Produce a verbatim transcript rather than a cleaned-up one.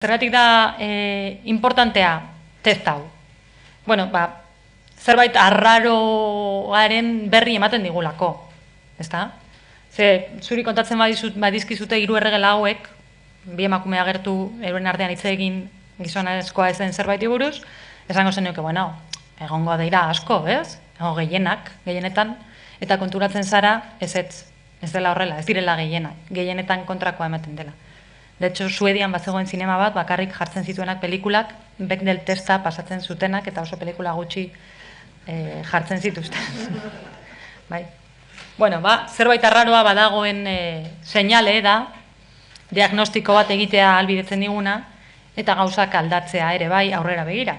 Zergatik da e, importantea test hau. Bueno, ba, zerbait arraroaren berri ematen digulako, ezta? Ze, zuri kontatzen badizut, badizkizute hiru erregela hauek, bi emakume agertu euren artean hitz egin gizonezkoa ezen zerbaiti buruz, esango zenioke, bueno, egongo dira asko, ez? Ego gehienak, gehienetan, eta konturatzen zara, ez ez, ez dela horrela, ez direla gehienak, gehienetan kontrakoa ematen dela. De hecho, Suedian bat zegoen zinema bat, bakarrik jartzen zituenak pelikulak, Bechdel testa pasatzen zutenak, eta oso pelikula gutxi e, jartzen zituzten. Bai. Bueno, ba, zerbait arraroa badagoen e, seinale da, diagnostiko bat egitea ahalbidetzen diguna, eta gauzak aldatzea ere bai aurrera begira.